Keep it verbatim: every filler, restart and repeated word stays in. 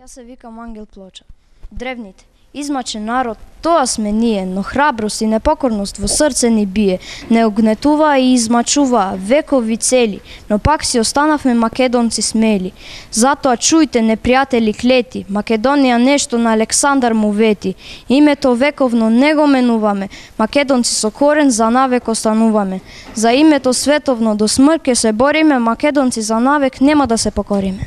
Јас се викам Ангел Плоча. Древните, измачен народ, тоа сме ние, но храброст и непокорност во срце ни бие. Не огнетуваа и измачуваа векови цели, но пак си останавме македонци смели. Затоа чујте, непријатели клети, Македонија нешто на Александар му вети. Името вековно не го менуваме, македонци со корен за навек остануваме. За името световно до смрт ќе се бориме, македонци за навек нема да се покориме.